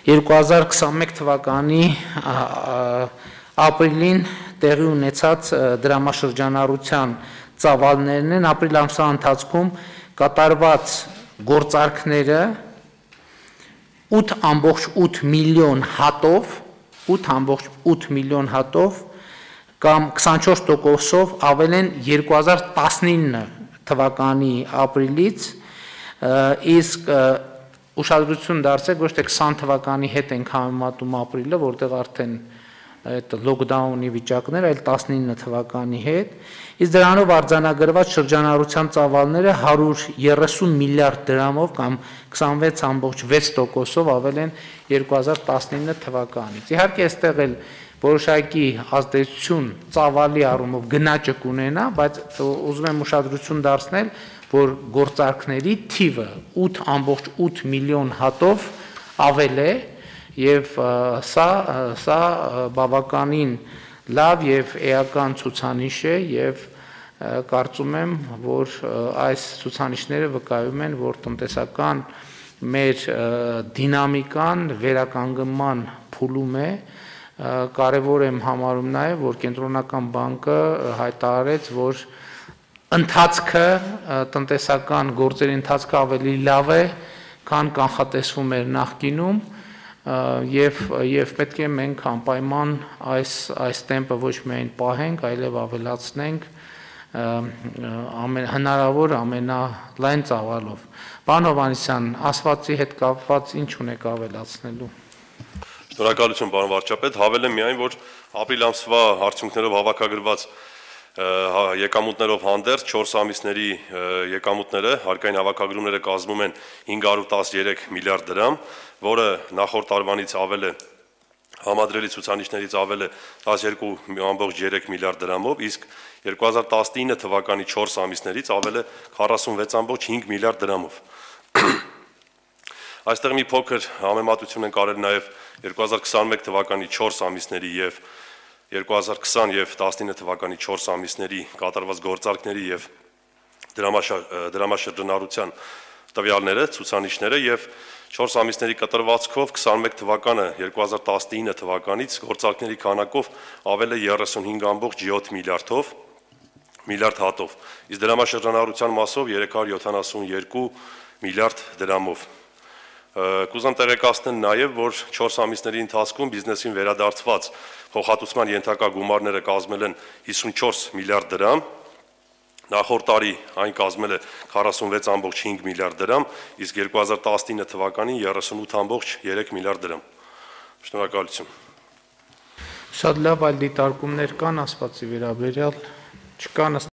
2021 թվականի ապրիլին տեղի ունեցած դրամաշրջանառության ծավալներն են, ապրիլ ամսվա ընթացքում կատարված գործարքները 8.8 միլիոն հատով, 8.8 միլիոն հատով կամ 24%-ով ավել են 2019 թվականի ապրիլից, իսկ ուշադրություն դարձրեք, ոչ թե 20 թվականի հետ ենք համեմատում ապրիլը, որտեղ արդեն լոկդաունի վիճակներ, այլ 19 թվականի հետ, իսկ դրանով արձանագրված շրջանառության ծավալները 130 միլիարդ դրամով կամ 26.6%-ով ավել են 2019 թվականից։ Իհարկե, այստեղ էլ որոշակի ազդեցություն ծավալի առումով գնաճը կունենա, բայց ուզում եմ ուշադրություն դարձնել, որ գործարքների թիվը 8.8 միլիոն հատով ավել է, եւ սա բավականին լավ եւ էական ցուցանիշ է եւ կարծում եմ, որ այս ցուցանիշները վկայում են, որ տնտեսական մեր դինամիկան վերականգնման փուլում է, կարևոր եմ համարում նաեւ, որ կենտրոնական բանկը հայտարարեց, որ ընթացքը տնտեսական գործերի ընթացքը ավելի լավ է, քան կանխատեսվում էր նախկինում, եւ պետք է մենք անպայման այս տեմպը ոչ միայն պահենք, այլև ավելացնենք հնարավոր ամենալայն ծավալով։ Պարոն Հովհաննիսյան, ասվածի հետ կապված ինչ ունեք ավելացնելու։ Շնորհակալություն, պարոն վարչապետ, հավելեմ միայն, որ ապրիլ ամսվա արդյունքներով հավաքագրված եկամուտներով հանդերձ 4 ամիսների եկամուտները, հարկային հավաքագրումները կազմում են 513 միլիարդ դրամ, որը նախորդ տարվանից ավել է, համադրելի ցուցանիշներից ավել է 12.3 միլիարդ դրամով, իսկ 2019 թվականի 4 ամիսներից ավել է 46.5 միլիարդ դրամով։ Այստեղ մի փոքր համեմատություն ենք արել նաև 2021 թվականի 4 ամիսների եւ 2020 եւ 19 թվականի 4 ամիսների կատարված գործարքների եւ դրամաշրջանառության տվյալները, ցուցանիշները եւ 4 ամիսների կտրվածքով 21 թվականը 2019 թվականից գործարքների քանակով ավել է 35.7 միլիարդ հատով, իսկ դրամաշրջանառության մասով 372 միլիարդ դրամով։ Կուզեմ տեղեկացնել նաև, որ 4 ամիսների ընթացքում բիզնեսին վերադարձված փոխհատուցման ենթակա գումարները կազմել են 54 միլիարդ դրամ, նախորդ տարի այն կազմել է 46.5 միլիարդ դրամ, իսկ 2019 թվականին 38.3 միլիարդ դրամ։ Շնորհակալություն։ Շատ լավ, այլ դիտարկումներ կան ասվածի վերաբերյալ, չկան։